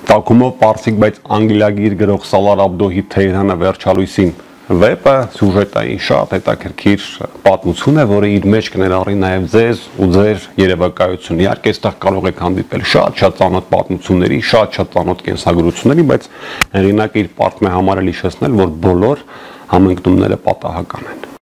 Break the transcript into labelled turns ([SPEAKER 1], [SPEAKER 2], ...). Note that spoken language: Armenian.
[SPEAKER 1] Տակումով պարսիկ, բայց անգլիագիր գրող Սալար Աբդոհի Թեհրանը վերջալույսին վեպը սյուժետային շատ հետաքրքիր պատմություն է, որը իր մեջ կներառի նաև ձեզ ու ձեր երևակայությունը։ Իհարկե, այստեղ կարող եք հանդիպել շատ ծանոթ պատմությունների, շատ ծանոթ կենսագրությունների, բայց հեղինակը իր պարտքն է համարել հիշեցնել, որ բոլոր համընկնումները պատահական են։